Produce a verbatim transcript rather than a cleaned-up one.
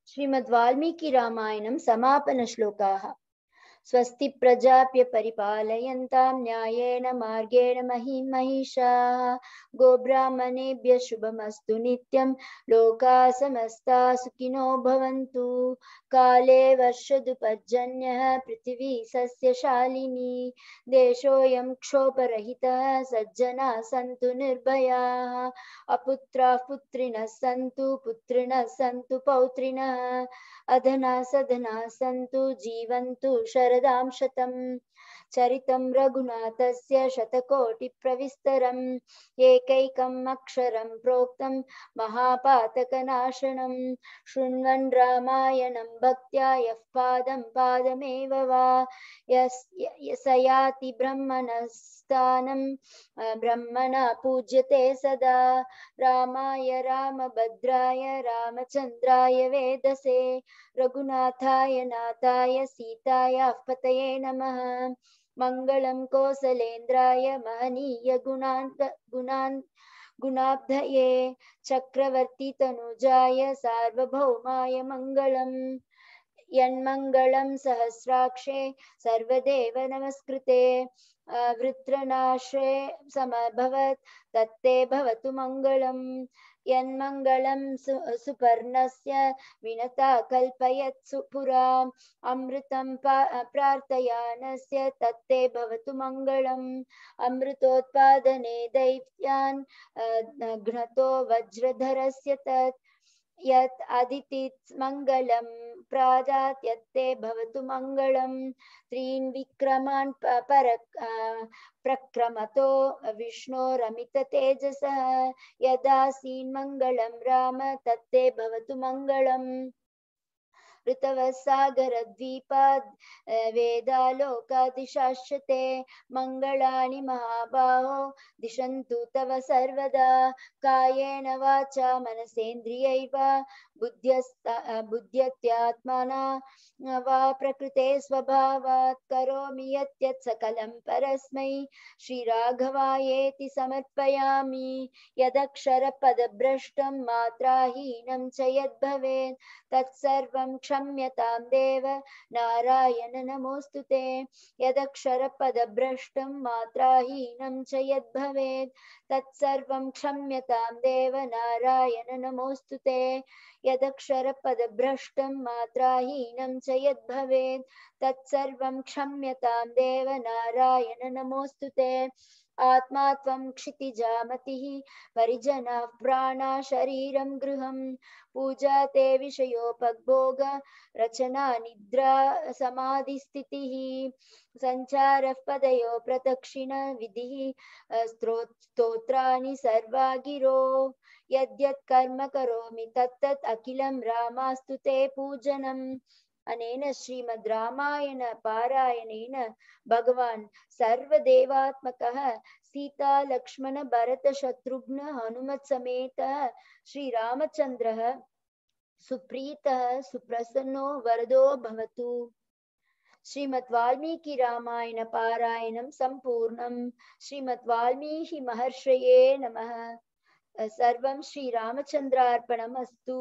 श्रीमद्वाल्मीकिरामायणं समापनश्लोकाः। स्वस्ति प्रजाप्य परिपालयन्तां न्यायेन मार्गेण महीं महिषाः। गोब्राह्मणेभ्यः शुभमस्तु नित्यं लोकाः समस्ताः सुखिनो भवन्तु। काले वर्षदुपर्जन्यः पृथिवी सस्यशालिनी। देशोऽयं क्षोभरहितः सज्जनाः सन्तु निर्भयाः। अपुत्राः पुत्रिणः सन्तु पुत्रिणः सन्तु पौत्रिणः। अधना सधना सन्तु जीवन्तु शरदां शतम्। चरितं रघुनाथस्य शतकोटिप्रविस्तरम्। एकैकम् अक्षरं प्रोक्तं महापातकनाशनं। शृण्वन् रामायणं भक्त्या यः पादं पादमेव वा स याति ब्रह्मणस्थानं ब्रह्मणा पूज्यते सदा। रामाय रामभद्राय रामचन्द्राय वेदसे रघुनाथाय नाथाय सीतायाः पतये नमः। मङ्गलं कौसलेन्द्राय महनीय गुणान् गुणान् गुणाब्धये चक्रवर्ती तनुजाय सार्वभौमाय मङ्गलम्। यन्मङ्गलं सहस्राक्षे सर्वदेव नमस्कृते वृत्रनाशे समभवत् तत्ते भवतु मङ्गलम्। यन्मङ्गलं सु सुपर्णस्य विनता कल्पयत्सु पुरा अमृतं प्रार्थयानस्य तत्ते भवतु मङ्गलम्। अमृतोत्पादने दैत्यान् घ्नतो वज्रधरस्य तत् यत् अदितित् मङ्गलं प्राजात् यत्ते भवतु मङ्गलम्। त्रीन् विक्रमान् पर प्रक्रमतो विष्णोरमित तेजसः यदासीन् मङ्गलं राम तत्ते भवतु मङ्गलम्। ऋतवसागरद्वीपाद् वेदालोकादिशाश्यते मङ्गलानि महाबाहो दिशन्तु तव सर्वदा। कायेन वाचा मनसेन्द्रियैर्वा बुद्ध्यत्यात्मना वा प्रकृते स्वभावात् करोमि यत् सकलं परस्मै श्रीराघवायेति समर्पयामि। यदक्षरपदभ्रष्टं मात्राहीनं च यद्भवेत् तत्सर्वं क्षम्यतां देव नारायण नमोऽस्तु ते। यदक्षरपदभ्रष्टं मात्राहीनं च यद्भवेत् तत्सर्वं क्षम्यतां देव नारायण नमोऽस्तु ते। यदक्षरपदभ्रष्टं मात्राहीनं च यद्भवेत् तत्सर्वं क्षम्यतां देव नारायण नमोऽस्तु ते। आत्मा त्वं क्षितिजामतिः परिजनाः प्राणा शरीरं गृहं पूजा ते विषयोपभोग रचना निद्रा समाधिस्थितिः सञ्चारः पदयो प्रदक्षिण विधिः स्तोत्राणि सर्वा गिरो। यद्यत् कर्म करोमि तत्तत् अखिलं रामास्तु ते पूजनम्। अनेन श्रीमद् रामायण पारायणेन भगवान् सर्वदेवात्मकः सीता लक्ष्मण भरत शत्रुघ्न हनुमत् समेतः श्रीरामचन्द्रः सुप्रीतः सुप्रसन्नो वरदो भवतु। श्रीमद् वाल्मीकि रामायण पारायणं सम्पूर्णम्। श्रीमद् वाल्मीकि महर्षये नमः। सर्वं श्रीरामचन्द्रार्पणमस्तु।